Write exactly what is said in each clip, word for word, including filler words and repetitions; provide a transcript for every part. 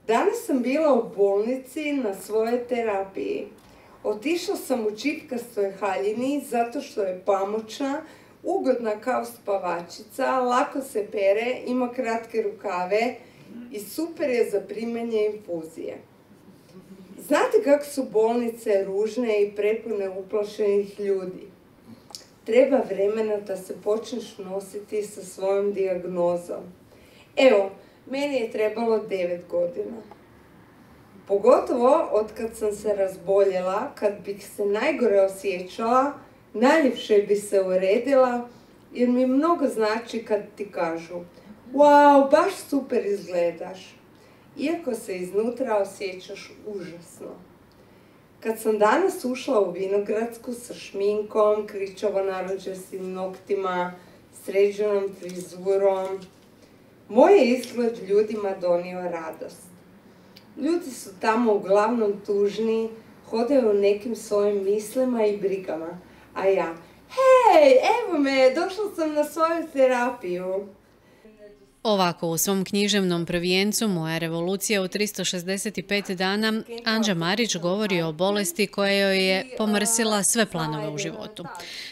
Danas sam bila u bolnici na svojoj terapiji. Otišla sam u čipkastoj haljini zato što je pamučna, ugodna kao spavačica, lako se pere, ima kratke rukave i super je za primanje infuzije. Znate kako su bolnice ružne i prepune uplašenih ljudi? Treba vremena da se počneš nositi sa svojom dijagnozom. Evo, meni je trebalo devet godina. Pogotovo od kad sam se razboljela, kad bih se najgore osjećala, najljepše bi se uredila, jer mi mnogo znači kad ti kažu wow, baš super izgledaš, iako se iznutra osjećaš užasno. Kad sam danas ušla u Vinogradsku sa šminkom, kričavo narančastim noktima, sređenom frizurom, moj je izgled ljudima donio radost. Ljudi su tamo uglavnom tužni, hodaju u nekim svojim mislima i brigama, a ja, hej, evo me, došla sam na svoju terapiju. Ovako u svom književnom prvijencu Moja revolucija u tristo šezdeset pet dana Anđa Marić govori o bolesti koja joj je pomrsila sve planove u životu.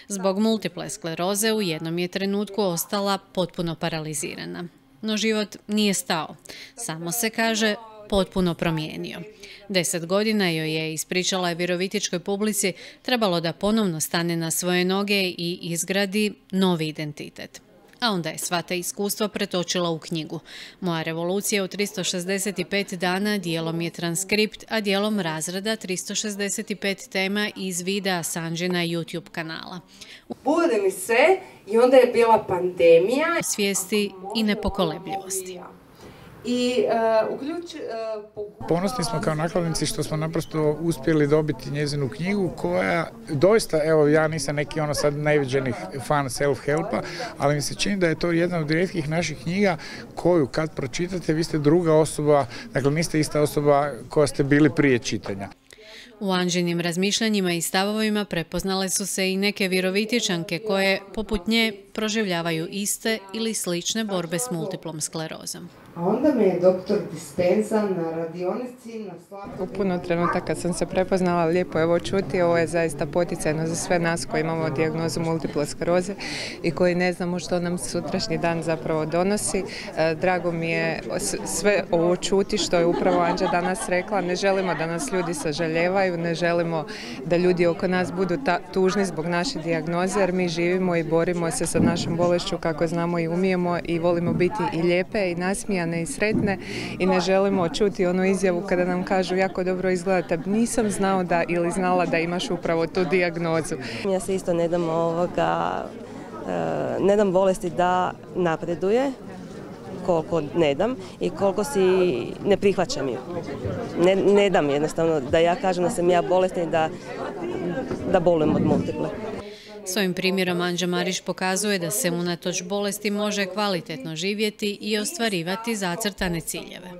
Zbog multiple skleroze u jednom je trenutku ostala potpuno paralizirana. No život nije stao. Samo se, kaže, potpuno promijenio. Deset godina joj je, ispričala je virovitičkoj publici, trebalo da ponovno stane na svoje noge i izgradi novi identitet. A onda je sva ta iskustva pretočila u knjigu. Moja revolucija u tristo šezdeset pet dana dijelom je transkript, a dijelom razrada tristo šezdeset pet tema iz videa s Anđina YouTube kanala. Bude mi sve i onda je bila pandemija. Svijesti i nepokolebljivosti. I, uh, uključ, uh, Ponosni smo kao nakladnici što smo naprosto uspjeli dobiti njezinu knjigu koja doista, evo ja nisam neki ono sad najviđenih fan self-helpa, ali mi se čini da je to jedna od rijetkih naših knjiga koju kad pročitate vi ste druga osoba, dakle niste ista osoba koja ste bili prije čitanja. U Anđinim razmišljanjima i stavovima prepoznale su se i neke virovitičanke koje, poput nje, proživljavaju iste ili slične borbe s multiplom sklerozom. A onda me je doktor Dispenza na radionici na Slavku... U puno trenutaka sam se prepoznala, lijepo je ovo čuti, ovo je zaista poticajno za sve nas koji imamo dijagnozu multiple skleroze i koji ne znamo što nam sutrašnji dan zapravo donosi. Drago mi je sve ovo čuti što je upravo Anđa danas rekla. Ne želimo da nas ljudi sažaljevaju, ne želimo da ljudi oko nas budu tužni zbog naše dijagnoze, jer mi živimo i borimo se sa našom bolešću kako znamo i umijemo i volimo biti i lijepe i nasmijane i sretne i ne želimo čuti onu izjavu kada nam kažu jako dobro izgledate, nisam znao da ili znala da imaš upravo tu dijagnozu. Ja se isto ne dam, ovoga, ne dam bolesti da napreduje, koliko ne dam i koliko si ne prihvaćam ju. Ne, ne dam jednostavno da ja kažem da sam ja bolesna i da, da bolujem od multiple. Svojim primjerom Anđa Marić pokazuje da se unatoč bolesti može kvalitetno živjeti i ostvarivati zacrtane ciljeve.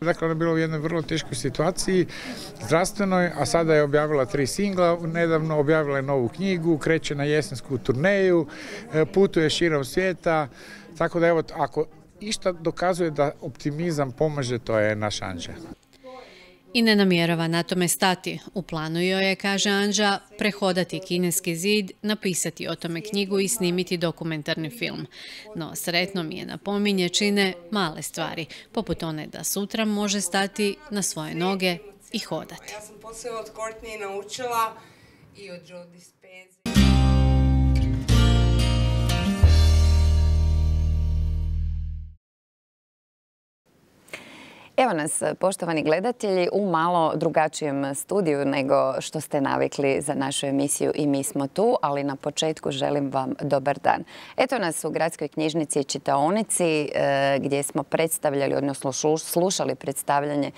Dakle, ona je bila u jednoj vrlo teškoj situaciji zdravstvenoj, a sada je objavila tri singla, nedavno objavila je novu knjigu, kreće na jesensku turneju, putuje širom svijeta, tako da evo, ako išta dokazuje da optimizam pomaže, to je naš Anđa. I ne namjerava na tome stati. U planu joj je, kaže Anđa, prehodati Kineski zid, napisati o tome knjigu i snimiti dokumentarni film. No sretno mi je, napominje, čine male stvari, poput one da sutra može stati na svoje noge i hodati. Ja sam poslije od Courtney naučila i od Joe Dispenza. Evo nas, poštovani gledatelji, u malo drugačijem studiju nego što ste navikli za našu emisiju I mi smo tu, ali na početku želim vam dobar dan. Eto nas u Gradskoj knjižnici i čitaonici gdje smo predstavljali, odnosno slušali predstavljanje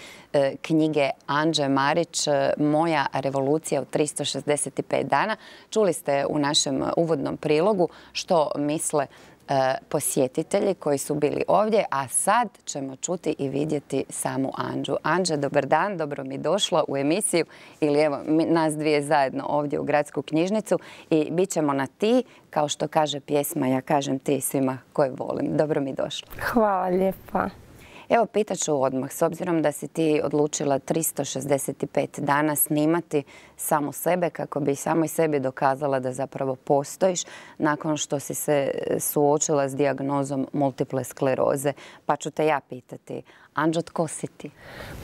knjige Anđe Marić Moja revolucija u tristo šezdeset pet dana. Čuli ste u našem uvodnom prilogu što misle posjetitelji koji su bili ovdje, a sad ćemo čuti i vidjeti samu Anđu. Anđa, dobar dan, dobro mi došla u emisiju ili evo nas dvije zajedno ovdje u Gradsku knjižnicu i bit ćemo na ti, kao što kaže pjesma, ja kažem ti svima koje volim. Dobro mi došla. Hvala lijepa. Evo, pitat ću odmah, s obzirom da si ti odlučila tristo šezdeset pet dana snimati samu sebe kako bi samoj sebi dokazala da zapravo postojiš nakon što si se suočila s dijagnozom multiple skleroze. Pa ću te ja pitati, Anđo, tko si ti?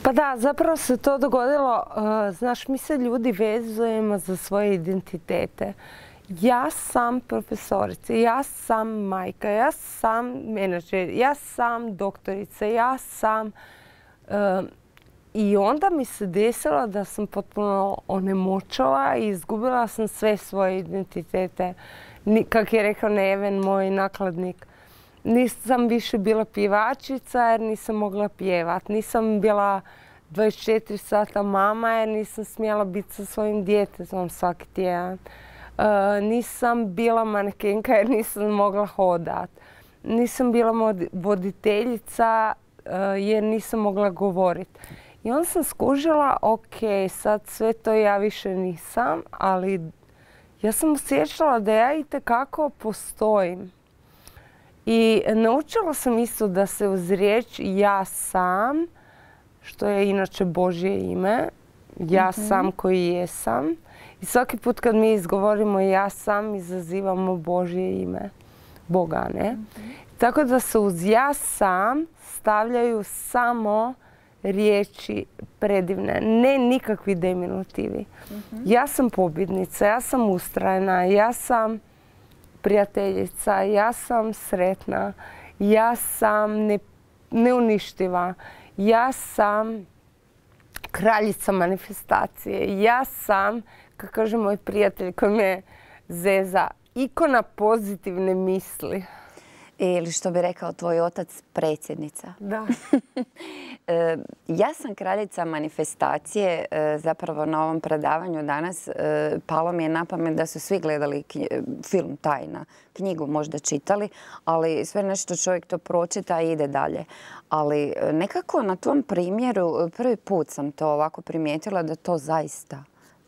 Pa da, zapravo se to dogodilo, znaš, mi se ljudi vezujemo za svoje identitete. Ja sam profesorica, ja sam majka, ja sam menadžer, ja sam doktorica, ja sam... I onda mi se desilo da sam potpuno onemoćala i izgubila sam sve svoje identitete. Kako je rekao Neven, moj nakladnik, nisam više bila pjevačica jer nisam mogla pjevat. Nisam bila dvadeset četiri sata mama jer nisam smjela biti sa svojim djetetom svaki tjedan. Uh, nisam bila manekenka jer nisam mogla hodat. Nisam bila voditeljica uh, jer nisam mogla govoriti. I onda sam skužila, ok, sad sve to ja više nisam, ali ja sam osjećala da ja itekako postojim. I naučila sam isto da se uz riječ ja sam, što je inače Božje ime, ja mm-hmm. sam koji jesam. I svaki put kad mi izgovorimo ja sam, izazivamo Božje ime, Boga, ne? Mm-hmm. Tako da se uz ja sam stavljaju samo riječi predivne, ne nikakvi diminutivi. Mm-hmm. Ja sam pobjednica, ja sam ustrajna, ja sam prijateljica, ja sam sretna, ja sam ne, neuništiva, ja sam kraljica manifestacije, ja sam, kako kaže moj prijatelj koji me zeza, ikona pozitivne misli. Ili što bi rekao tvoj otac, predsjednica. Da. Ja sam kraljica manifestacije. Zapravo na ovom predavanju danas palo mi je na pamet da su svi gledali film Tajna, knjigu možda čitali, ali sve nešto čovjek to pročita i ide dalje. Ali nekako na tom primjeru prvi put sam to ovako primijetila da to zaista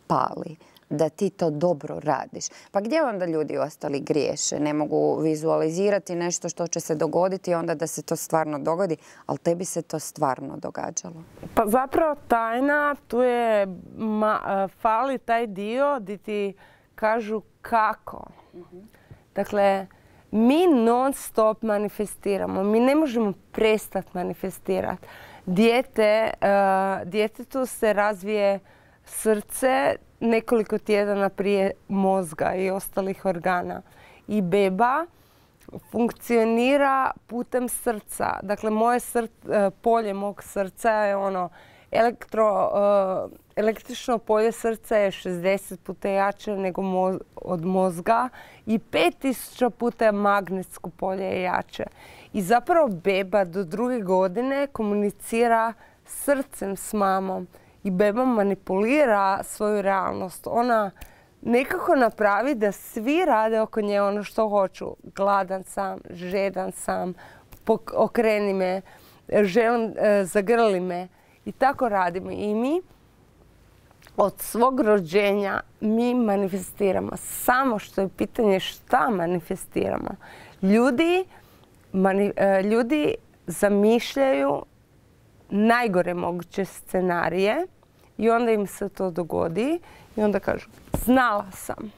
pali, da ti to dobro radiš. Pa gdje onda ljudi ostali griješe? Ne mogu vizualizirati nešto što će se dogoditi onda da se to stvarno dogodi, ali tebi se to stvarno događalo. Pa zapravo Tajna, tu je ma, fali taj dio gdje ti kažu kako. Mm-hmm. Dakle, mi non stop manifestiramo. Mi ne možemo prestati manifestirati. Dijete, uh, djetetu se razvije srce nekoliko tjedana prije mozga i ostalih organa. I beba funkcionira putem srca. Dakle, moje srce, polje mog srca je ono, elektro, električno polje srca je šezdeset puta jače nego moz, od mozga i pet tisuća puta magnetsko polje je jače. I zapravo beba do druge godine komunicira srcem s mamom. I beba manipulira svoju realnost. Ona nekako napravi da svi rade oko nje ono što hoću. Gladan sam, žedan sam, okreni me, želim, e, zagrli me. I tako radimo. I mi od svog rođenja mi manifestiramo. Samo što je pitanje šta manifestiramo. Ljudi, mani, e, ljudi zamišljaju najgore moguće scenarije i onda im se to dogodi i onda kažu znala sam.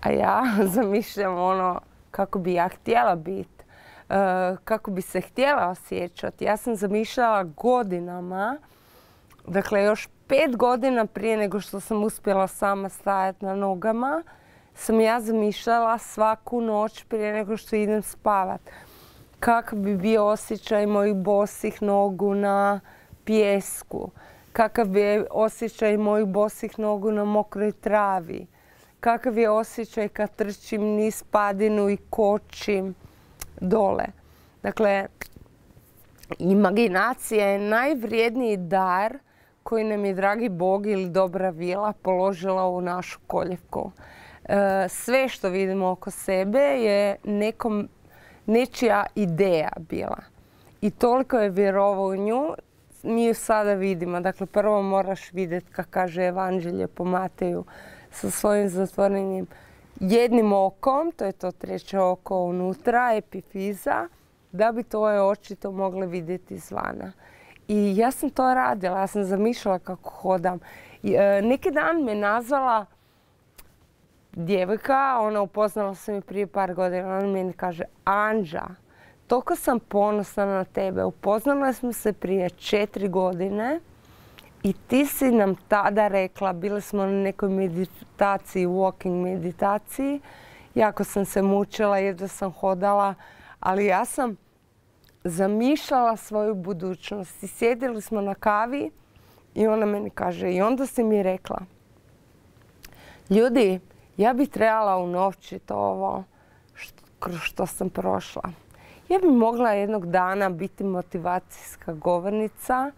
A ja zamišljam ono kako bi ja htjela biti, kako bi se htjela osjećati. Ja sam zamišljala godinama, dakle još pet godina prije nego što sam uspjela sama stajati na nogama, sam ja zamišljala svaku noć prije nego što idem spavat. Kakav bi bio osjećaj mojih bosih nogu na pijesku, kakav bi osjećaj mojih bosih nogu na mokroj travi, kakav je osjećaj kad trčim niz padinu i kočim dole. Dakle, imaginacija je najvrijedniji dar koji nam je dragi Bog ili dobra vila položila u našu koljevku. Sve što vidimo oko sebe je nekom nečija ideja bila. I toliko je vjerovao u nju, mi ju sada vidimo. Dakle, prvo moraš vidjeti, kako kaže Evanđelje po Mateju, sa svojim zatvorenim jednim okom, to je to treće oko unutra, epifiza, da bi tvoje oči to mogle vidjeti izvana. I ja sam to radila, ja sam zamišljala kako hodam. I, e, neki dan me nazvala djevojka, ona upoznala se mi prije par godina, ona meni kaže, Anđa, toliko sam ponosna na tebe, upoznala smo se prije četiri godine i ti si nam tada rekla, bili smo na nekoj meditaciji, walking meditaciji, jako sam se mučila, jedva sam hodala, ali ja sam zamišljala svoju budućnost. I sjedili smo na kavi i ona meni kaže, i onda si mi rekla, ljudi, ja bi trebala unovčiti ovo što, kroz što sam prošla. Ja bi mogla jednog dana biti motivacijska govornica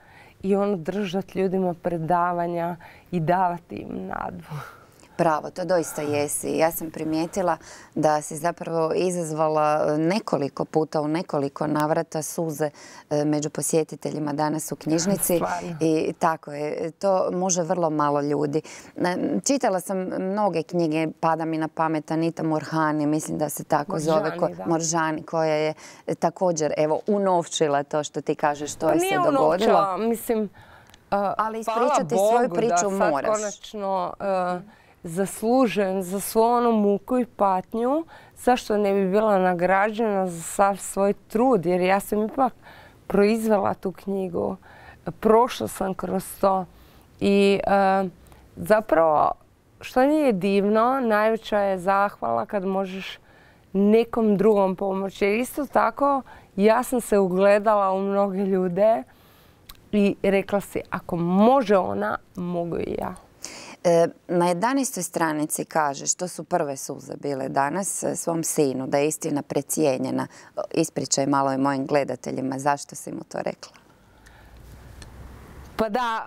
i ono držati ljudima predavanja i davati im nadu. Bravo, to doista jesi. Ja sam primijetila da si zapravo izazvala nekoliko puta, u nekoliko navrata suze među posjetiteljima danas u knjižnici. Stvarno. I tako je, to može vrlo malo ljudi. Čitala sam mnoge knjige, pada mi na pamet Anita Moorjani, mislim da se tako zove, Moorjani, koja je također evo unovčila to što ti kažeš, što je se dogodilo. Nije unovčila, mislim, ali ispričati svoju priču moraš. Da sad konačno zaslužujem za svu onu muku i patnju, zašto ne bi bila nagrađena za sav svoj trud, jer ja sam ipak proizvela tu knjigu, prošla sam kroz to i e, zapravo što nije divno, najveća je zahvala kad možeš nekom drugom pomoći. Jer isto tako ja sam se ugledala u mnoge ljude i rekla si, ako može ona, mogu i ja. Na jedanaestoj stranici kažeš, to su prve suze bile danas, svom sinu, da je istina precijenjena. Ispričaj malo i mojim gledateljima, zašto si mu to rekla? Pa da,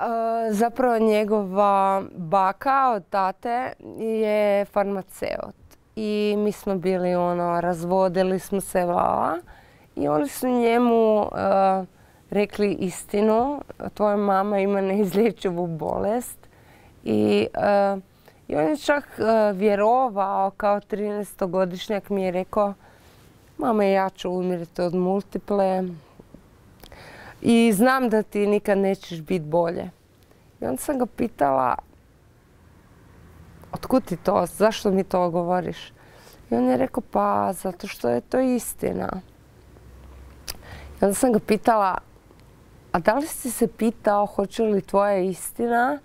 zapravo njegova baka od tate je farmaceut. I mi smo bili ono, razvodili smo se vala i oni su njemu rekli istinu, tvoja mama ima neizlječivu bolest. I, uh, I on je čak uh, vjerovao, kao trinaestogodišnjak mi je rekao, mama, ja ću umiriti od multiple i znam da ti nikad nećeš biti bolje. I onda sam ga pitala, otkud ti to, zašto mi to govoriš? I on je rekao, pa zato što je to istina. I onda sam ga pitala, a da li si se pitao hoće li tvoja istina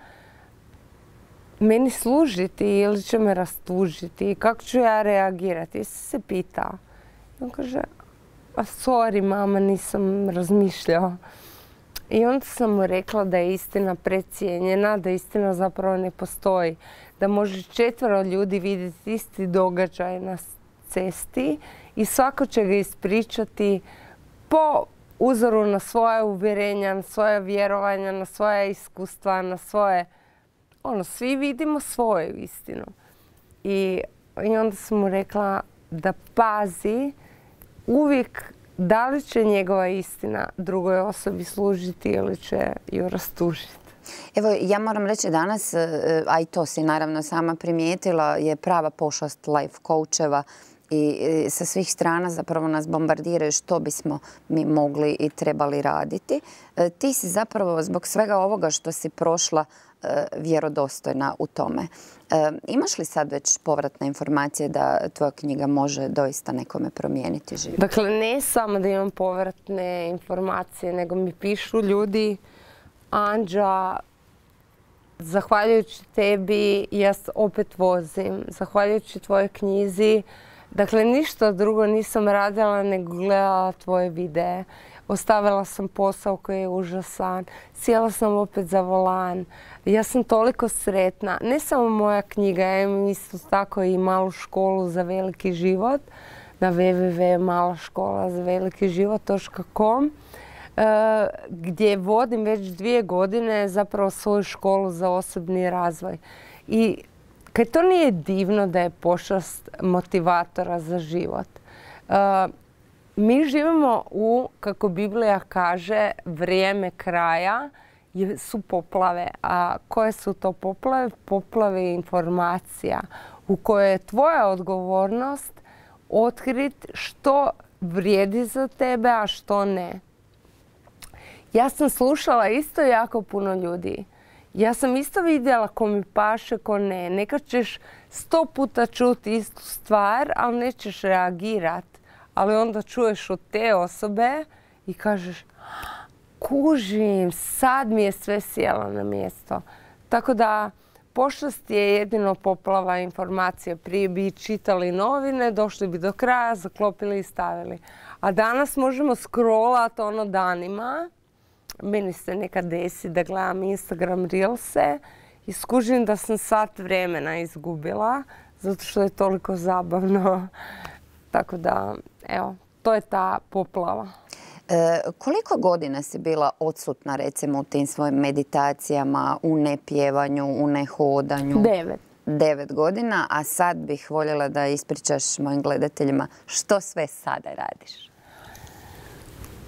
meni služiti ili će me rastužiti? Kako ću ja reagirati? Jesi se pitao? I on kaže, a sorry mama, nisam razmišljao. I onda sam mu rekla da je istina precijenjena, da istina zapravo ne postoji. Da može četvero ljudi vidjeti isti događaj na cesti i svako će ga ispričati po uzoru na svoje uvjerenja, na svoje vjerovanja, na svoje iskustva, na svoje... Ono, svi vidimo svoju istinu. I, i onda sam mu rekla da pazi uvijek da li će njegova istina drugoj osobi služiti ili će ju rastužiti. Evo, ja moram reći danas, a i to si naravno sama primijetila, je prava pošast life coacheva i sa svih strana zapravo nas bombardiraju što bismo mi mogli i trebali raditi. Ti si zapravo zbog svega ovoga što si prošla vjerodostojna u tome. Imaš li sad već povratne informacije da tvoja knjiga može doista nekome promijeniti život? Dakle, ne samo da imam povratne informacije, nego mi pišu ljudi, Anđa, zahvaljujući tebi ja opet vozim, zahvaljujući tvojoj knjizi. Dakle, ništa drugo nisam radila nego gledala tvoje videe. Ostavila sam posao koji je užasan, sjela sam opet za volan. Ja sam toliko sretna. Ne samo moja knjiga, ja imam isto tako i malu školu za veliki život na w w w točka mala škola za veliki život točka com gdje vodim već dvije godine zapravo svoju školu za osobni razvoj. I kad to nije divno da je pošast motivatora za život. Mi živimo u, kako Biblija kaže, vrijeme kraja su poplave. A koje su to poplave? Poplave informacija u kojoj je tvoja odgovornost otkriti što vrijedi za tebe, a što ne. Ja sam slušala isto jako puno ljudi. Ja sam isto vidjela ko mi paše, ko ne. Nekad ćeš sto puta čuti istu stvar, ali nećeš reagirat. Ali onda čuješ od te osobe i kažeš kužim, sad mi je sve sjelo na mjesto. Tako da pošast je jedino poplava informacije. Prije bi čitali novine, došli bi do kraja, zaklopili i stavili. A danas možemo scrollat ono danima. Meni se nekad desi da gledam Instagram Reelse i skužim da sam sat vremena izgubila zato što je toliko zabavno. Tako da, evo, to je ta poplava. E, koliko godina si bila odsutna, recimo, u tim svojim meditacijama, u nepjevanju, u nehodanju? Devet. Devet godina, a sad bih voljela da ispričaš mojim gledateljima što sve sada radiš.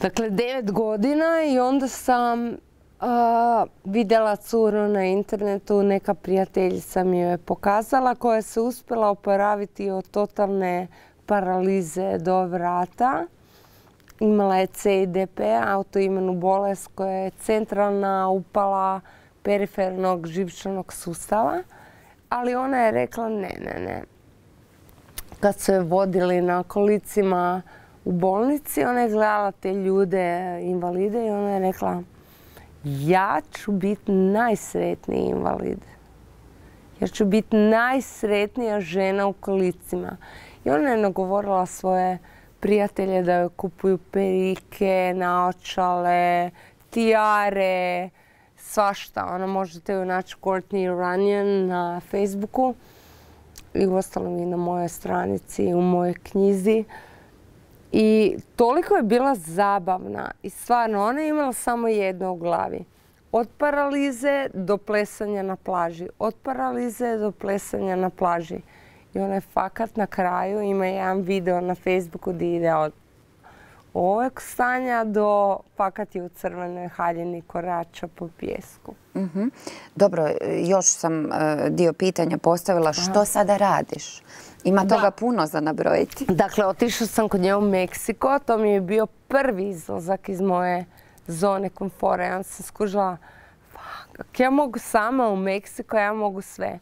Dakle, devet godina i onda sam a, vidjela curu na internetu, neka prijateljica mi je pokazala koja se uspjela oporaviti od totalne paralize do vrata. Imala je C I D P, autoimunu bolest koja je centralna upala perifernog živčanog sustava, ali ona je rekla ne, ne, ne. Kad su je vodili na kolicima u bolnici, ona je gledala te ljude, invalide, i ona je rekla ja ću biti najsretniji invalid. Ja ću biti najsretnija žena u kolicima. I ona je nagovorila svoje prijatelje da joj kupuju perike, naočale, tijare, svašta. Ona možete ju naći Courtney Runyon na Facebooku i uostalom i na mojoj stranici, u mojoj knjizi. I toliko je bila zabavna i stvarno ona je imala samo jedno u glavi. Od paralize do plesanja na plaži. Od paralize do plesanja na plaži. I ona je fakat na kraju, ima jedan video na Facebooku gdje ide od ovog stanja do fakat je u crvenoj haljini korača po pijesku. Mm-hmm. Dobro, još sam uh, dio pitanja postavila. Što sada radiš? Ima toga da. Puno za nabrojiti. Dakle, otišla sam kod nje u Meksiko. To mi je bio prvi izlazak iz moje zone komfora. Ja sam skužila, fuck, ja mogu sama u Meksiko, ja mogu sve.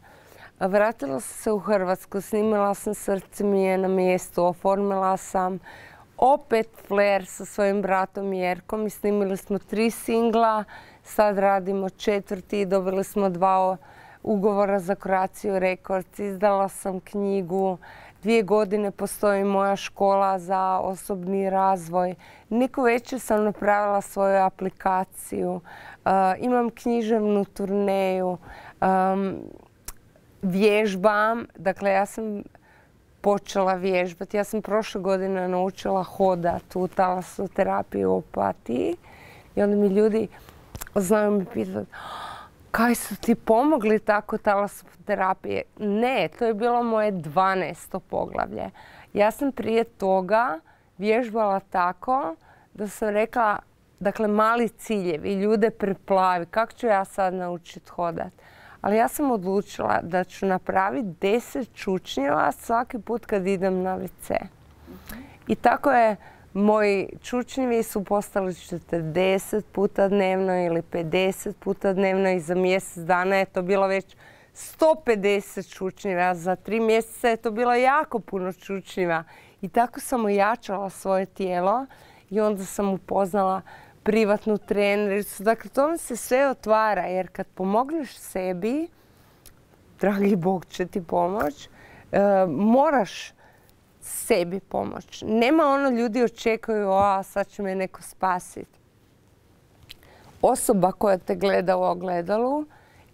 Vratila sam se u Hrvatsku, snimila sam Srce mi je na mjestu, oformila sam opet flair sa svojim bratom Jerkom i snimili smo tri singla. Sad radimo četvrti, dobili smo dva ugovora za Croatia Records, izdala sam knjigu, dvije godine postoji moja škola za osobni razvoj. Neko večer sam napravila svoju aplikaciju, uh, imam književnu turneju, um, vježbam, dakle ja sam počela vježbati. Ja sam prošle godine naučila hodat u talasoterapiji u Opatiji i onda mi ljudi znaju mi pitati kaj su ti pomogli tako talasoterapije? Ne, to je bilo moje dvanaesto poglavlje. Ja sam prije toga vježbala tako da sam rekla, dakle mali ciljevi, ljude preplavi, kako ću ja sad naučiti hodat? Ali ja sam odlučila da ću napraviti deset čučnjeva svaki put kad idem na ve ce. I tako je, moji čučnjevi su postali četrdeset puta dnevno ili pedeset puta dnevno i za mjesec dana je to bilo već sto pedeset čučnjeva. Za tri mjeseca je to bilo jako puno čučnjeva. I tako sam ojačala svoje tijelo i onda sam upoznala privatnu trenericu. Dakle, to mi se sve otvara jer kad pomogneš sebi, dragi Bog će ti pomoć, e, moraš sebi pomoć. Nema ono ljudi očekuju, a sad će me neko spasiti. Osoba koja te gleda u ogledalu,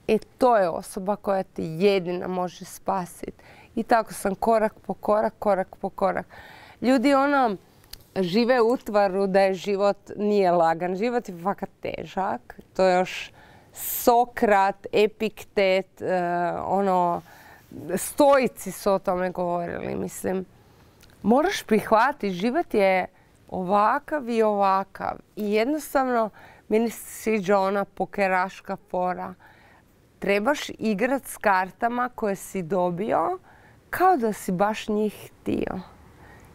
e to je osoba koja te jedina može spasiti. I tako sam korak po korak, korak po korak. Ljudi ono žive u utvaru da je život nije lagan. Život je fakat težak. To je još Sokrat, Epiktet, uh, ono, stoici su o tome govorili, mislim. Moraš prihvatiti, život je ovakav i ovakav. I jednostavno, meni se sviđa ona pokeraška fora. Trebaš igrati s kartama koje si dobio kao da si baš njih htio.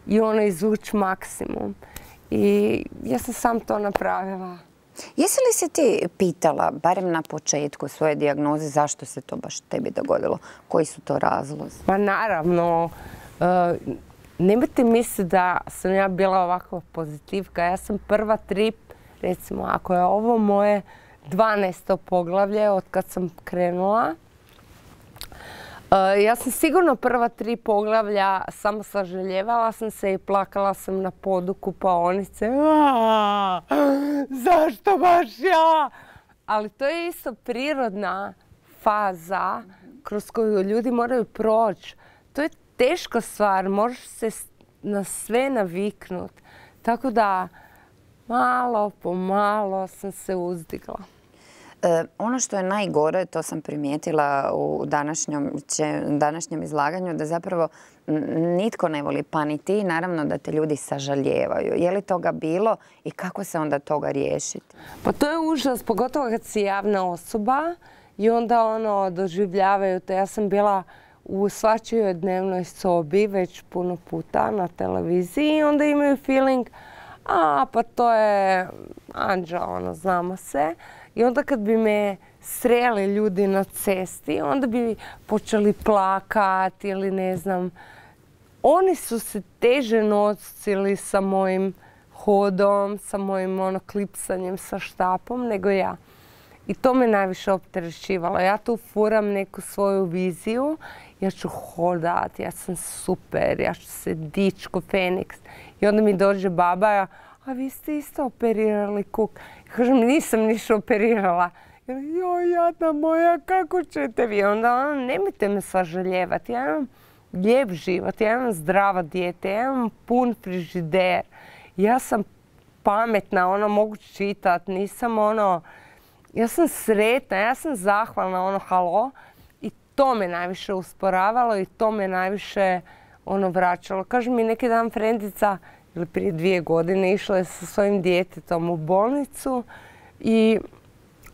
i ono izvući maksimum. I ja sam sam to napravila. Jesi li se ti pitala, barem na početku svoje dijagnoze, zašto se to baš tebi dogodilo? Koji su to razlozi? Pa naravno, nemojte misliti da sam ja bila ovakva pozitivka. Ja sam prva tri, recimo, ako je ovo moje dvanaesto poglavlje od kad sam krenula, ja sam sigurno prva tri poglavlja samo sažaljevala sam se i plakala sam na podu kupaonice. Zašto baš ja? Ali to je isto prirodna faza kroz koju ljudi moraju proći. To je teška stvar, možeš se na sve naviknut. Tako da malo po malo sam se uzdigla. E, ono što je najgore, to sam primijetila u današnjem, današnjem izlaganju, da zapravo nitko ne voli, pa ni ti, naravno da te ljudi sažaljevaju. Je li toga bilo i kako se onda toga riješiti? Pa to je užas, pogotovo kad si javna osoba i onda ono doživljavaju te. Ja sam bila u svačijoj dnevnoj sobi već puno puta na televiziji i onda imaju feeling, a pa to je Anđa, ono, znamo se. I onda kad bi me sreli ljudi na cesti, onda bi počeli plakati ili ne znam. Oni su se teže nosili sa mojim hodom, sa mojim ono, klipsanjem sa štapom nego ja. I to me najviše opterećivalo. Ja tu furam neku svoju viziju. Ja ću hodat, ja sam super, ja ću se dići ko Feniks. I onda mi dođe baba, a vi ste isto operirali kuk. Ja kažem, nisam ništa operirala. Joj, jadna moja, kako ćete vi? Onda ono, nemojte me sažaljevati. Ja imam lijep život, ja imam zdrava dijete, ja imam pun frižider. Ja sam pametna, ono, mogu čitat, nisam ono... Ja sam sretna, ja sam zahvalna, ono, halo. I to me najviše usporavalo i to me najviše, ono, vraćalo. Kaže mi neki dan frendica, ili prije dvije godine, išla je sa svojim djetetom u bolnicu i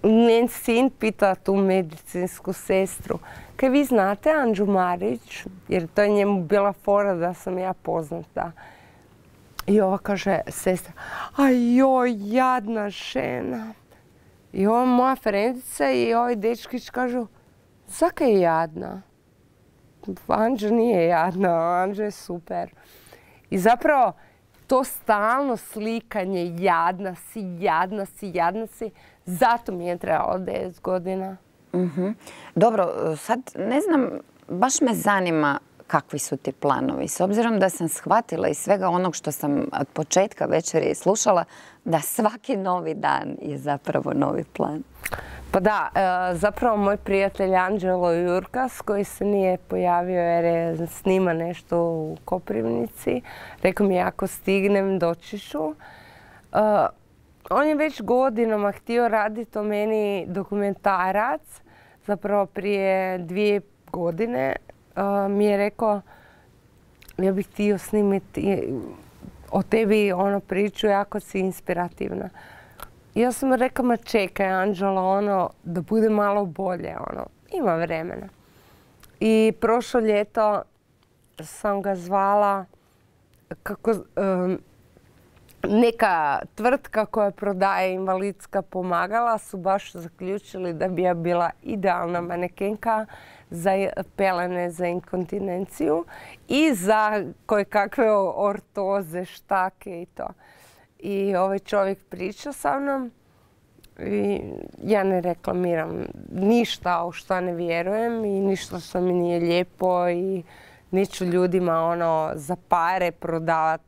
njen sin pita tu medicinsku sestru, kaj vi znate Anđu Marić? Jer to je njemu bila fora da sam ja poznata. I ova kaže, sestra, a joj, jadna žena. I ova moja frendica i ovaj dečkić kažu, zaka je jadna? Anđa nije jadna, Anđa je super. I zapravo to stalno slikanje, jadna si, jadna si, jadna si, zato mi je trebalo devet godina. Mm-hmm. Dobro, sad ne znam, baš me zanima kakvi su ti planovi. S obzirom da sam shvatila iz svega onog što sam od početka večeri slušala, da svaki novi dan je zapravo novi plan. Pa da, zapravo moj prijatelj Anđelo Jurkas, koji se nije pojavio jer je snima nešto u Koprivnici, rekao mi ako stignem doći ću. On je već godinama htio raditi o meni dokumentarac, zapravo prije dvije godine mi je rekao ja bih htio snimiti o tebi ono priču, jako si inspirativna. Ja sam rekla, ma čekaj Anđela, ono, da bude malo bolje, ono, ima vremena. I prošlo ljeto sam ga zvala kako um, neka tvrtka koja prodaje invalidska pomagala su baš zaključili da bi ja bila idealna manekenka za pelene za inkontinenciju i za koje kakve ortoze, štake i to. I ovaj čovjek priča sa mnom i ja ne reklamiram ništa u što ne vjerujem i ništa što mi nije lijepo i neću ljudima ono za pare prodavat.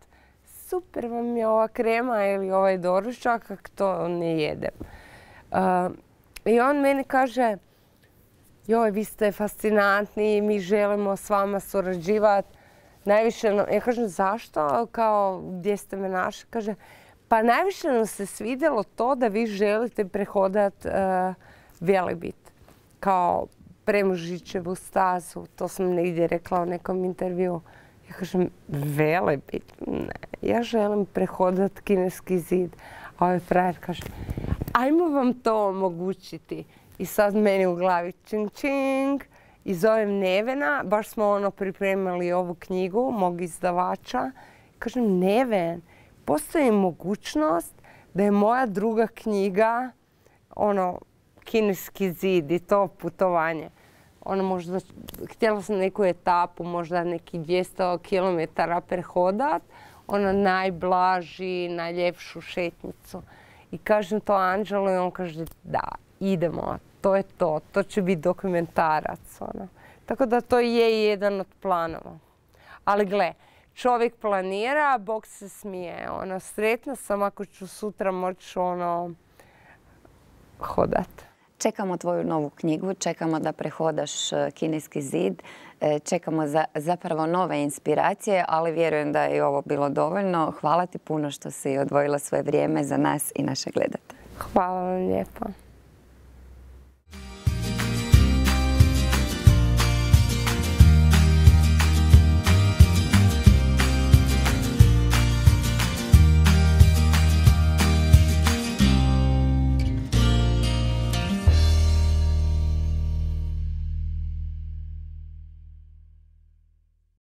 Super vam je ova krema ili ovaj doručak, ako to ne jedem. Uh, I on meni kaže, joj, vi ste fascinantni, mi želimo s vama surađivati. Najviše, ja kažem, zašto? Kao, gdje ste me našli? Kaže, pa najviše nam se svidjelo to da vi želite prehodat uh, Velebit. Kao Premužićevu stazu. To sam negdje rekla u nekom intervju. Ja kažem, Velebit? Ne, ja želim prehodat Kineski zid. A ovaj frajer kaže, ajmo vam to omogućiti. I sad meni u glavi čing čing. I zovem Nevena, baš smo ono pripremali ovu knjigu mog izdavača Kažem, Neven, postoji mogućnost da je moja druga knjiga, ono, Kineski zid i to putovanje. Ono, možda, htjela sam neku etapu, možda neki dvjesto kilometara prehodat, ono, najblaži, najljepšu šetnicu. I kažem to Anđelu i on kaže, da, idemo, to je to, to će biti dokumentarac, ono. Tako da to je jedan od planova. Ali gle, čovjek planira, Bog se smije. Ono, sretna sam ako ću sutra moći ono, hodat. Čekamo tvoju novu knjigu, čekamo da prehodaš Kineski zid, čekamo za, zapravo nove inspiracije, ali vjerujem da je i ovo bilo dovoljno. Hvala ti puno što si odvojila svoje vrijeme za nas i naše gledatelje. Hvala vam lijepo.